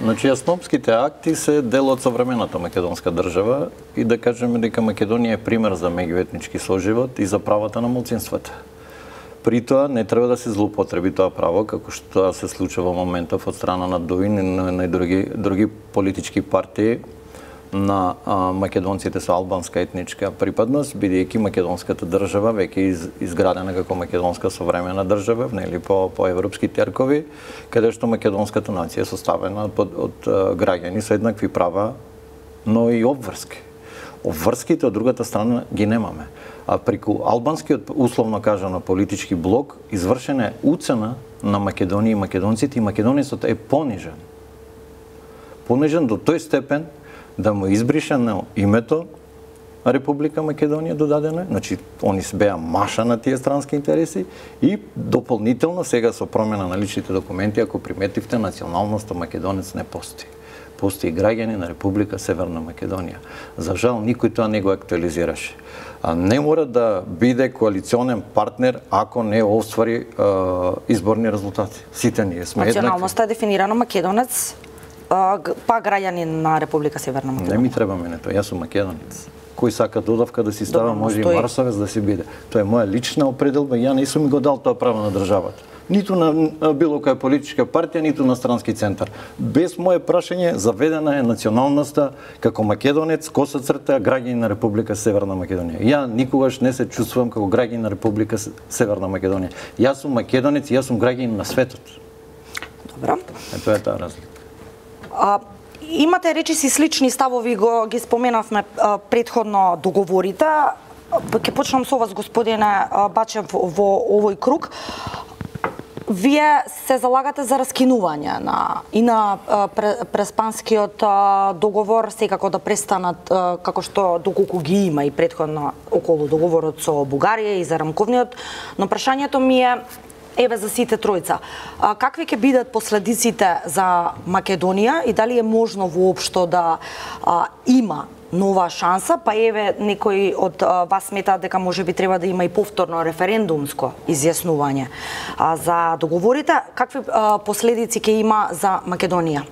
Значи, Јаснопските акти се дел од современата македонска држава и да кажеме дека Македонија е пример за меѓуетнички соживот и за правата на малцинствата. При тоа не треба да се злоупотреби тоа право, како што се случува во моментов од страна на ДОИ и на други политички партии на македонците со албанска етничка припадност, бидејќи македонската држава веќе изградена како македонска современа држава, нели по европски теркови, каде што македонската нација е составена од граѓани со еднакви права, но и обврски. Обврските од другата страна ги немаме. А преку албанскиот, условно кажано, политички блок, извршена е уцена на Македонија и македонците, и македонецот е понижен. Понижен до тој степен да му избришено името Република Македонија додадено, значи они беа маша на тие странски интереси и дополнително сега со промена на личните документи, ако приметивте, националноста македонец не постои. Постои граѓани на Република Северна Македонија. За жал, никој тоа не го актуализираше. Не мора да биде коалиционен партнер ако не оствари изборни резултати. Сите ние сме еднакви. Националноста е дефинирана македонец, па граѓанин на Република Северна Македонија. Не ми треба мене тоа, јас сум македонец. Кој сака додавка да си става, може и марсовец да си биде. Тоа е моја лична определба и ја не сум го дал тоа право на државата. Ниту на било која политичка партија, ниту на странски центар. Без мое прашање заведена е националноста како македонец, коса црта, граѓанин на Република Северна Македонија. Ја никогаш не се чувствувам како граѓанин на Република Северна Македонија. Јас сум македонец и јас сум граѓанин на светот. Добро. Тоа е таа разлика. Имате речиси слични ставови, ги споменавме претходно договорите. Ќе почнам со вас, господине Бачев, во овој круг. Вие се залагате за раскинување на преспанскиот договор, секако да престанат, како што доколку ги има и претходно околу договорот со Бугарија и за рамковниот, но прашањето ми е, еве за сите тројца, какви ќе бидат последиците за Македонија и дали е можно воопшто да има нова шанса, па еве некои од вас сметаат дека можеби треба да има и повторно референдумско изјаснување за договорите, какви последици ќе има за Македонија?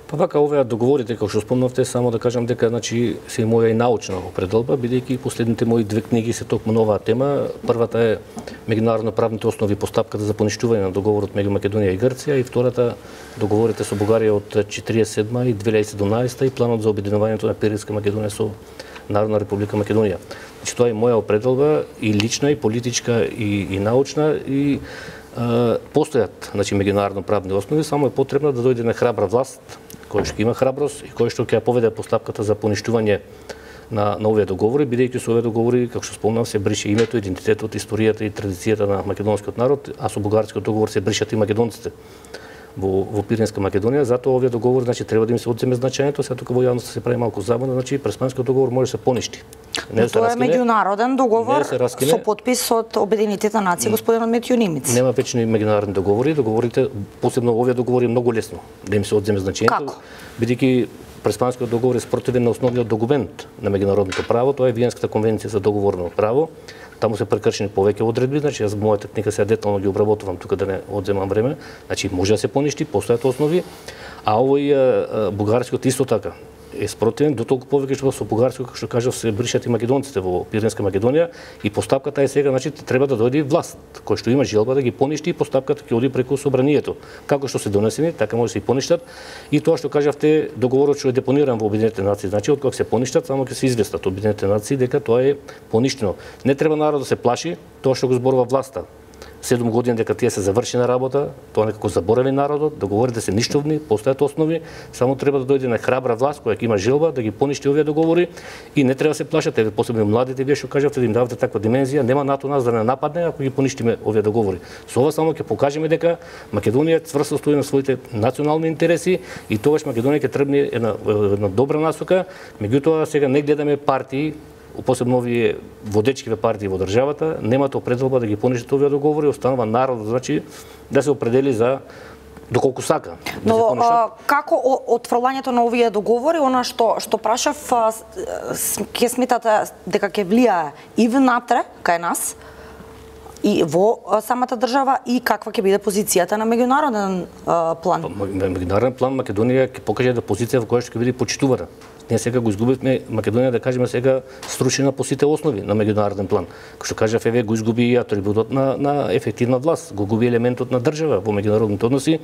Па вака, овие договорите, како што спомнавте, само да кажам дека значи се моја и научна определба, бидејќи последните мои две книги се токму на оваа тема. Првата е меѓународно правните основи и постапката за поништување на договорот меѓу Македонија и Грција, и втората договорите со Бугарија од 1947 и 2017 и планот за обединувањето на Пиринска Македонија со Народна Република Македонија. Значи тоа е моја определба и лична, и политичка, и научна, и постојат значи меѓународно правни основи, само е потребно да дојде на храбра власт, кој што има храброст и кој што ќе поведе постапката за поништување на овие договори, бидејќи со овие договори, како што спомнав, се брише името, идентитетот, историјата и традицијата на македонскиот народ, а со бугарскиот договор се бришат и македонците во Пиринска Македонија, затоа овие договори значи треба да им се одземе значењето, сега тука во јавноста се прави малку забуна, значи преспанскиот договор може да се поништи. Тоа е меѓународен договор со подпис од Обединетите нации, господинот Метју Нимиц. Нема вечни меѓународни договори, договорите, посебно овие договори е многу лесно да им се одземе значењето, бидејќи преспанскиот договор е спротивен на основниот документ на меѓународното право, тоа е Виенската конвенција за договорно право. Таму се прекршени повеќе одредби, значи јас мојата книга сега детално ги обработувам тука да не одземам време, значи може да се поништи, постојат основи, а овој бугарскиот исто така е спротивен, до толку повеќе што со бугарско, како што кажав, се бришат и македонците во Пиринска Македонија и постапката е сега, значи треба да дојде власт кој што има желба да ги поништи и постапката ќе оди преку собранието. Како што се донесени, така може да се и поништат. И тоа што кажавте, договорот што е депониран во Обединетите нации, значи од кога се поништат, само ќе се известат Обединетите нации дека тоа е поништено. Не треба народот да се плаши тоа што го зборува власта. 7 години дека тие се завршена работа, тоа некако заборави народот, договорите се ништовни, постојат основи, само треба да дојде на храбра власт која ќе има желба да ги поништи овие договори и не треба да се плашат, посебно младите, вие што кажавте да им давате таква димензија, нема НАТО нас да не нападне ако ги поништиме овие договори. Со ова само ќе покажеме дека Македонија цврсто стои на своите национални интереси и тогаш Македонија ќе тргне една добра насока, меѓутоа сега не гледаме партии, посебно овие водечкиве партии во државата, немаат определба да ги поништат овие договори, останува народот, значи, да се определи за доколку сака. Но како отфрлањето на овие договори, она што прашав, ќе сметате дека ќе влијае и внатре кај нас, и во самата држава и каква ќе биде позицијата на меѓународен план? Меѓународен план Македонија ќе покаже да позиција во која што ќе биде почитувана. Ние сега го изгубивме Македонија, да кажеме сега струшена по сите основи на меѓународен план. Како што кажа ФВ, го изгуби и атрибутот на ефективна власт, го губи елементот на држава во меѓународните односи,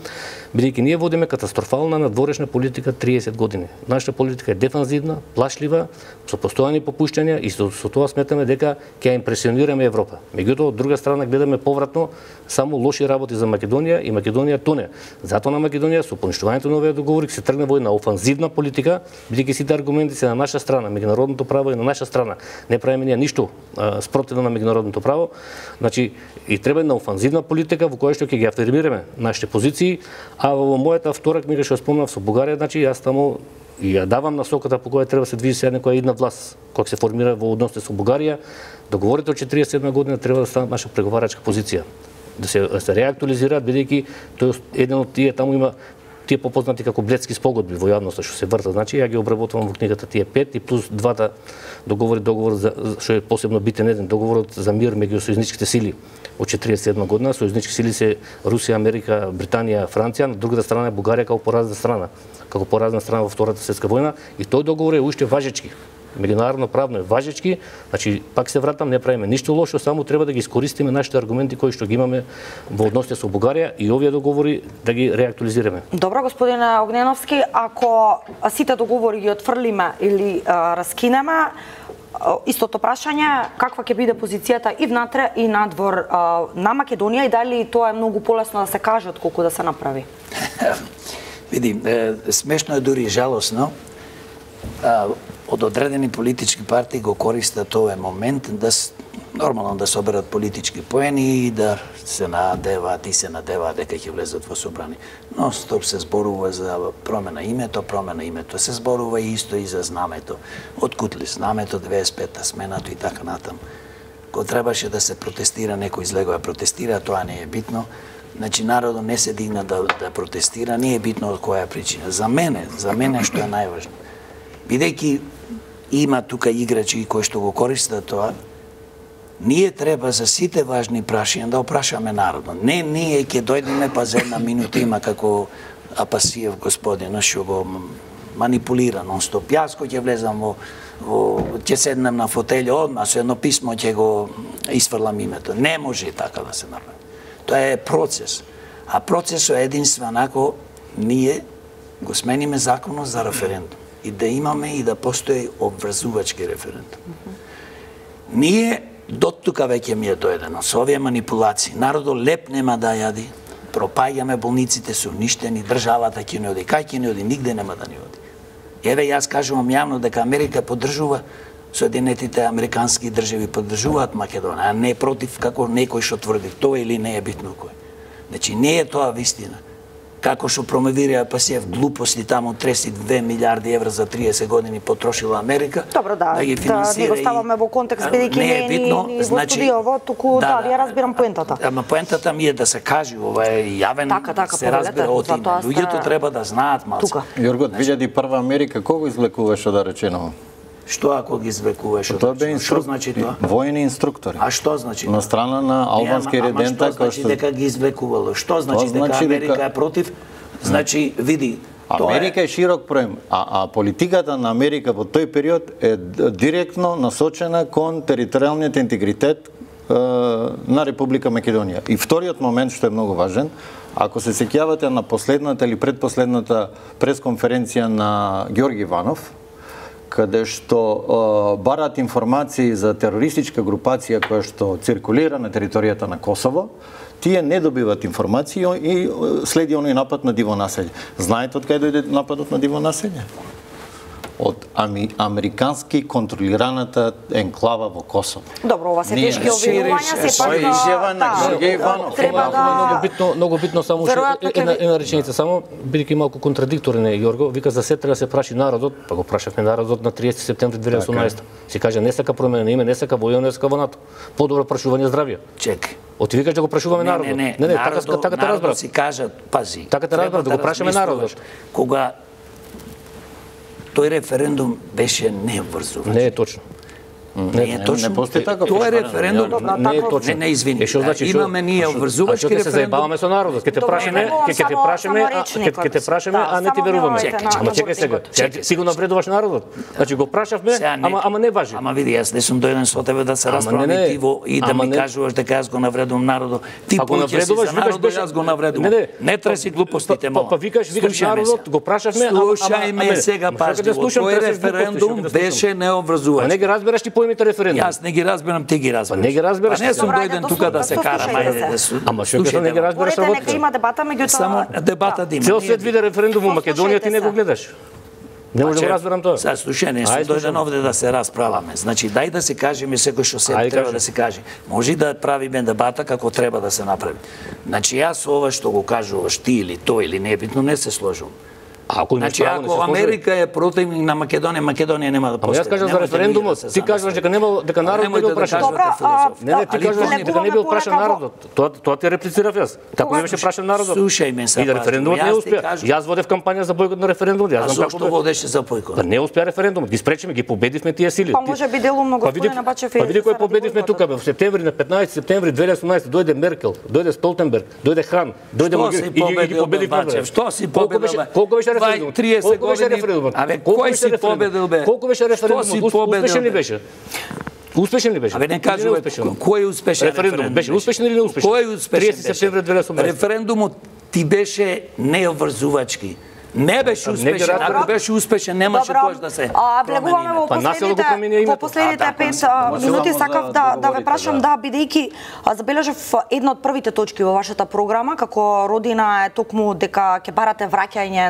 бидејќи ние водиме катастрофална надворешна политика 30 години. Нашата политика е дефанзивна, плашлива, со постојани попуштања и со тоа сметаме дека ќе импресионираме Европа. Меѓутоа, од друга страна гледаме повратно само лоши работи за Македонија и Македонија тоне. Затоа на Македонија со поништувањето на овие договори се тргне во една офанзивна политика, бидејќи сите аргументи се на наша страна, меѓународното право е на наша страна. Не правиме ние ништо спротивно на меѓународното право. Значи, и треба една офанзивна политика во која што ќе ги афирмираме нашите позиции, а во мојата втора книга што спомнав со Бугарија, значи јас таму и ја давам насоката по која треба да се движи се некоја една власт, која се формира во односите со Бугарија. Договорите од 47 година треба да станат наша преговарачка позиција, да се реактуализираат, бидејќи тој еден од тие таму има тие попознати како Бледски спогодби во јавноста што се вртат. Значи ја ги обработувам во книгата тие 5 и плюс двата договор за што е посебно битен еден договорот за мир меѓу сојузничките сили од 47 година. Сојузнички сили се Русија, Америка, Британија, Франција, на другата страна е Бугарија како поразна страна во Втората светска војна, и тој договор е уште важечки. Меѓународно правно е важечки, значи пак се вратам, не правиме ништо лошо, само треба да ги искористиме нашите аргументи кои што ги имаме во односите со Бугарија и овие договори да ги реактуализираме. Добро, господине Огненовски, ако сите договори ги отфрлиме или раскинеме, истото прашање, каква ќе биде позицијата и внатре и надвор на Македонија и дали тоа е многу полесно да се каже отколку да се направи? Види, смешно е дури жалосно. Од одредени политички партии го користат овој момент да нормално да соберат политички поени и да се надеваат дека ќе влезат во собрани. Но стоп се зборува за промена името се зборува и исто и за знамето. Откутли знамето 25-та сменато и така натам. Кога требаше да се протестира, некој излегува протестира, тоа не е битно. Значи народот не се дигна да протестира, не е битно од која причина. За мене што е најважно. Бидејќи има тука играчи кои што го користат тоа, ние треба за сите важни прашања да опрашаме народот. Не ние ќе дојдеме па за една минута има како Апасиев господин што го манипулира нон-стоп. Јас кој ќе влезам ќе седнем на фотелја одма со едно писмо ќе го исфрлам името. Не може така да се направи. Тоа е процес. А процесот е единствен ако ние го смениме законот за референдум и да имаме и да постои обврзувачки референдум. Ние до тука веќе ми е дојдено со овие манипулации. Народот леп нема да јади, пропаѓаме, болниците се уништени, државата ќе не оди. Кај ќе не оди? Нигде нема да не оди. Еве јас кажувам јавно дека Америка поддржува, Соединетите американски држави поддржуваат Македонија, а не против како некој што тврди тоа или не е битно кој. Значи не е тоа вистина. Како што промовира Апасиев глупости таму 32 милиарди евра за 30 години потрошила Америка. Добро, да ги финансира. Да го ставаме во контекст бидејќи не е битно, ни во студиово, туку да, ја разбирам поентата. Ама поентата ми е да се каже, ова е јавен, се разбира од име. Луѓето треба да знаат малку. Јорго, 2001 Америка кого извлекуваше да речено? Што ако ги извлекуваш? Што значи тоа? Војни инструктори. А што значи? На страна на албански редента кој што дека ги извлекувало. Што значи дека Америка е против? Значи, види, Америка е широк проем, а политиката на Америка во тој период е директно насочена кон територијалниот интегритет на Република Македонија. И вториот момент што е многу важен, ако се сеќавате на последната или предпоследната пресконференција на Ѓорги Иванов, каде што барат информации за терористичка групација која што циркулира на територијата на Косово, тие не добиват информации и следи оној напад на диво населје. Знаете од кај дојде нападот на диво населје? Од американски контролираната енклава во Косово. Добро, ова се тешки обвинувања, се пак изјава на Ѓорги Иванов. Треба да многу битно само една реченица само, бидејќи малку контрадикторен е Јорго, вика за се треба да се праши народот, па го прашавме народот на 30 септември 2018. Се каже не сака промена на име, не сака војна, не сака во НАТО. Подобро прашување здравје. Чекај. Оти викаш да го прашуваме народот. Не, така те разбрав. Си кажат, пази. Така те разбрав да го прашаме народот. Кога тој референдум беше необврзувач. Не е точно. Не е точно. Не постои така. Тоа е референдум. Не е точно. Не, извини. Значи, имаме ние обврзувачки референдум. Ќе се заебаваме со народот. Ќе те прашаме, а не ти веруваме. Ама чекај сега. Си го навредуваш народот. Значи го прашавме, ама не важи. Ама види, јас не сум дојден со тебе да се расправам и да ми кажуваш дека јас го навредувам народот. Ти поќе си за народот, јас го навредувам. Не треси глупостите, мола. Па викаш народот, го прашавме, слушај сега пажливо. Тој референдум беше необврзувач. Не ги разбираш ти поимите референдум. Јас не ги разбирам, ти ги разбираш. Не ги разбираш. Не сум дојден тука да се караме. Ама што не ги разбираш работата. Нека има дебата, меѓутоа само дебата да има. Цел свет виде референдум во Македонија, ти не го гледаш. Не може да разберам тоа. Сега слушај, не сум дојден овде да се расправаме. Значи дај да се кажеме секој што се треба да се каже. Може да правиме дебата како треба да се направи. Значи јас ова што го кажуваш ти или тој или небитно не се сложувам. Значи, ако Америка е противник на Македонија, Македонија нема да постои. Ама јас кажам за референдумот, ти кажаш дека народот не бил прашан. Не, ти кажаш дека не бил прашан народот. Тоа ти реплицирав јас. Како не беше прашан народот? Слушај ме сега. И референдумот не успеа. Јас водев кампања за бојкот на референдумот. Јас знам како водеше за бојкот. Не успеа референдумот. Ги спречиме, ги победивме тие сили. Па може би делумно господина Бачев. Па види кој победивме тука во септември, на 15 септември 2018 дојде Меркел, дојде Столтенберг, дојде Хан, дојде Могер и ги победивме. Што си победил? Колку беше референдумот? 30 години. Абе, кој си победил, бе? Колку беше референдумот? Успешен ли беше? Успешен ли беше? Абе, не кажувај, кој е успешен референдум? Беше успешен или неуспешен? Кој е успешен? 30 септември 2018. Референдумот ти беше необврзувачки. Не беше успешен. Ако беше успешен, немаше тоа да се влегуваме во последните 5 минути. Сакав да ве прашам, бидејќи забележав една од првите точки во вашата програма, како родина е токму дека ќе барате враќање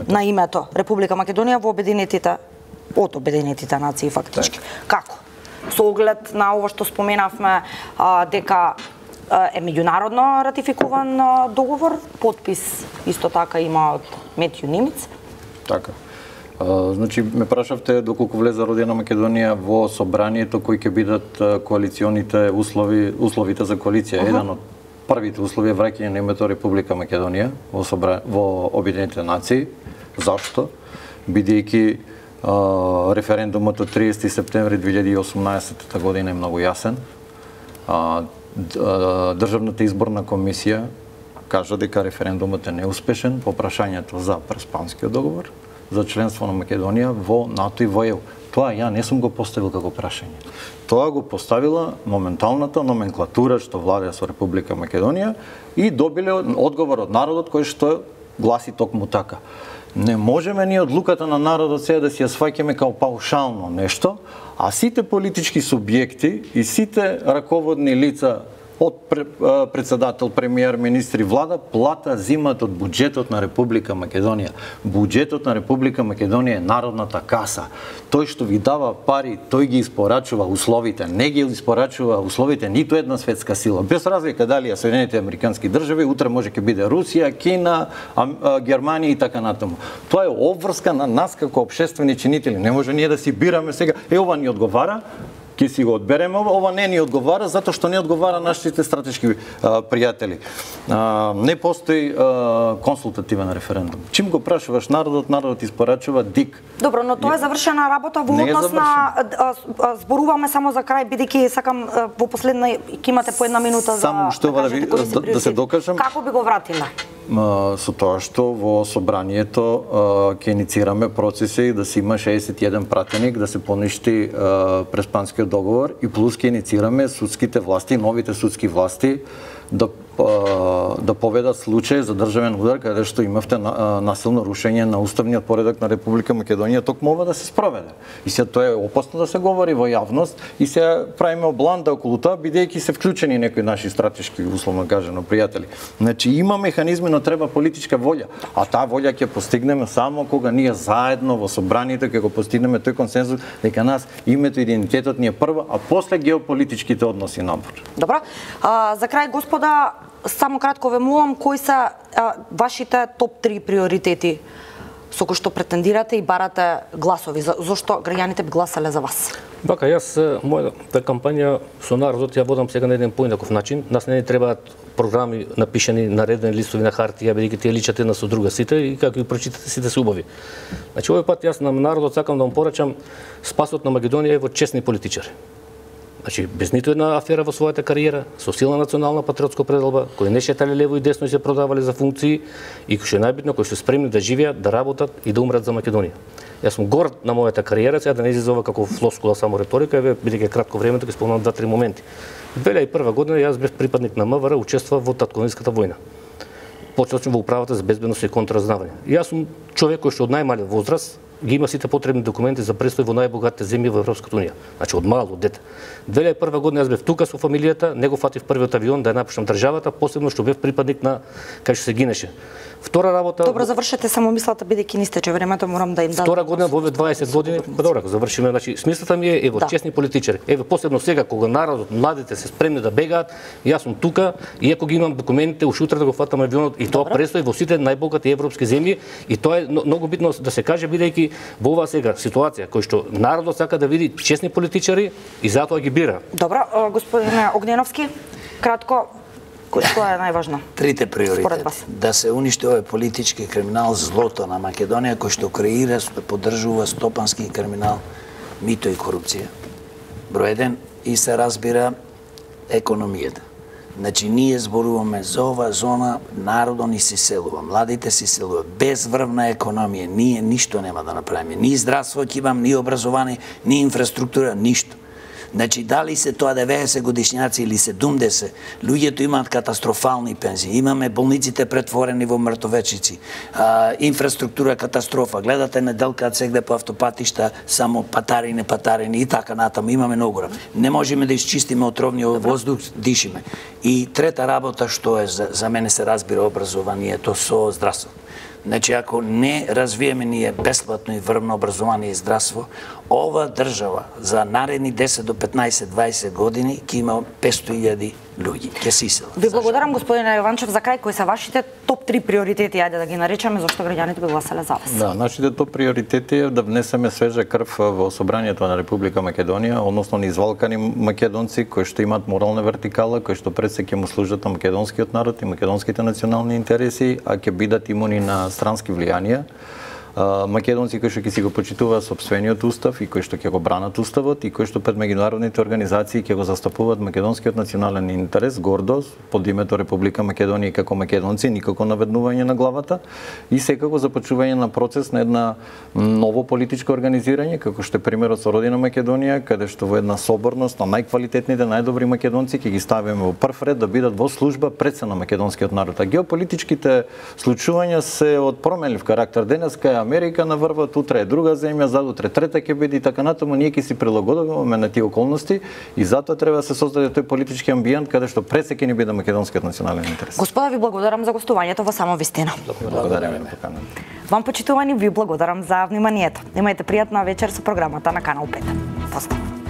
на името Република Македонија во Обединетите нации фактички. Како? Со оглед на ова што споменавме дека е меѓународно ратификуван договор, подпис исто така има од Метју Нимиц. Така. Значи, ме прашавте доколку влезе Родина Македонија во собранието кои ќе бидат коалиционите условите за коалиција. Еден од првите услови е враќање на името Република Македонија во Обединетите нации. Зашто? Бидејќи референдумот од 30 септември 2018 година е многу јасен. Државната изборна комисија кажа дека референдумот е неуспешен по прашањето за Преспанскиот договор, за членство на Македонија во НАТО и во ЕУ. Тоа ја не сум го поставил како прашање. Тоа го поставила моменталната номенклатура што владее со Република Македонија и добиле одговор од народот кој што гласи токму така. Не можеме ние одлуката на народот сега да си ја сваќаме као паушално нешто, а сите политички субјекти и сите раководни лица од председател, премиер, министри, влада, плата зимат од буџетот на Република Македонија. Буџетот на Република Македонија е народната каса. Тој што ви дава пари, тој ги испорачува условите. Не ги испорачува условите ниту една светска сила. Без разлика дали е Соединените американски држави, утре може ќе биде Русија, Кина, Германија и така натаму. Тоа е обврска на нас како општествени чинители. Не може ние да си бираме сега, ова ни одговара, ќе си го одбереме, ова не ни одговара затоа што не одговара нашите стратешки пријатели. Не постои консултативен референдум. Чим го прашуваш народот испорачува ДИК. Добро, но тоа е завршена работа во однос на зборуваме само за крај, бидејќи сакам во последна ќе имате по една минута за само што да се докажам. Како би го вратиле? Со тоа што во собранието ќе иницираме процеси да се има 61 пратеник, да се поништи Преспанскиот договор и плюс ќе иницираме судските власти, новите судски власти да поведат случај за државен удар каде што имавте насилно рушење на уставниот поредок на Република Македонија, токму ова да се спроведе. И сега тоа е опасно да се говори во јавност и сега правиме обланда околу тоа бидејќи се вклучени некои наши стратешки условно кажано пријатели. Значи има механизми, но треба политичка волја, а таа волја ќе постигнеме само кога ние заедно во собранието ќе го постигнеме тој консензус дека нас името и идентитетот ни е прво, а после геополитичките односи напор. Добро. За крај господа, само кратко ве молам, кои се вашите топ 3 приоритети со кои што претендирате и барате гласови? Зошто граѓаните би гласале за вас? Вака, јас мојата кампања со народот ја водам сега на еден поинаков начин. Нас не ни требаат програми напишани на редени листови на хартија, бидејќи тие личат една со друга сите и како ги прочитате сите се убави. Значи овој пат јас на народот сакам да му порачам спасот на Македонија е во честни политичари. Значи, без ниту една афера во својата кариера, со силна национална патриотска пределба, кои не шетале лево и десно и се продавале за функции и кои што е најбитно, кои што спремни да живеат, да работат и да умрат за Македонија. Јас сум горд на мојата кариера, сега да не изизова како флоскула само риторика, бидејќи кратко време ќе спомнам 2-3 моменти. 2001 година јас бев припадник на МВР, учествував во татковинската војна. Почнав во управата за безбедност и контразнавање. Јас сум човек кој што од најмален возраст ги има сите потребни документи за престој во најбогатите земји во Европската унија. Значи од мало, од дете. 2001 година јас бев тука со фамилијата, не го фатив првиот авион да ја напуштам државата, посебно што бев припадник на кај што се гинеше. Втора работа. Добро, завршете само мислата, бидејќи не стече времето, морам да им дадам. Втора година во 20 години, добро, завршиме, значи смислата ми е во честни политичари. Еве посебно сега кога народот, младите се спремни да бегаат, јас сум тука, иако ги имам документите, уште утре да го фатам авионот и тоа престои во сите најбогати европски земји и тоа е многу битно да се каже бидејќи во оваа сега ситуација кој што народот сака да види честни политичари и затоа ги бира. Добро, господине Огненовски, кратко, што е најважно? Трите приоритети. Да се уништи овој политички криминал, злото на Македонија, кој што креира, поддржува стопански криминал, мито и корупција. Број 1 и се разбира економијата. Значи, ние зборуваме за ова зона, народот ни се селува, младите се селува. Без врвна економија, ние ништо нема да направиме. Ни здравство ќе имам, ни образование, ни инфраструктура, ништо. Значи, дали се тоа 90 годишњаци или 70, луѓето имаат катастрофални пензии. Имаме болниците претворени во мртовечици. Инфраструктура катастрофа. Гледате неделкаат сегде по автопатишта, само патарини и така натаму. Имаме многу. Не можеме да исчистиме отровниот воздух, дишиме. И трета работа што е за мене се разбира образованието со здравство. Значи, ако не развиеме ние бесплатно и врвно образование и здравство, ова држава за наредни 10 до 15-20 години ќе има 500.000 луѓе, ќе се исела. Ви благодарам, господине Јованчев, за крај, кои се вашите топ 3 приоритети, ајде да ги наречеме, зашто граѓаните би гласале за вас? Да, нашите топ приоритети е да внесеме свежа крв во собранието на Република Македонија, односно низвалкани македонци кои што имаат морална вертикала, кои што пред се ќе му служат на македонскиот народ и македонските национални интереси, а ќе бидат имуни на странски влијанија. Македонци кои што ќе си го почитуваат сопствениот устав и кои што ќе го бранат уставот и кои што пред меѓународните организации ќе го застапуваат македонскиот национален интерес гордо под името Република Македонија како македонци, никако наведнување на главата и секако започнување на процес на една ново политичко организирање како што е примерот со Родина Македонија, каде што во една соборност на најквалитетните, најдобри македонци ќе ги ставиме во прв ред да бидат во служба пред се на македонскиот народ. А геополитичките случувања се од променлив карактер. Денеска е Америка наврват, утре е друга земја, задутре трета ќе биде и така натаму, ние ќе си прилагодуваме на тие околности и затоа треба да се создаде тој политички амбиент каде што пред се ќе ни биде македонскиот национален интерес. Господа, ви благодарам за гостувањето во Само вистина. Благодараме на поканата. Вам почитувани, ви благодарам за вниманието. Имајте пријатна вечер со програмата на Канал 5. Поздраv.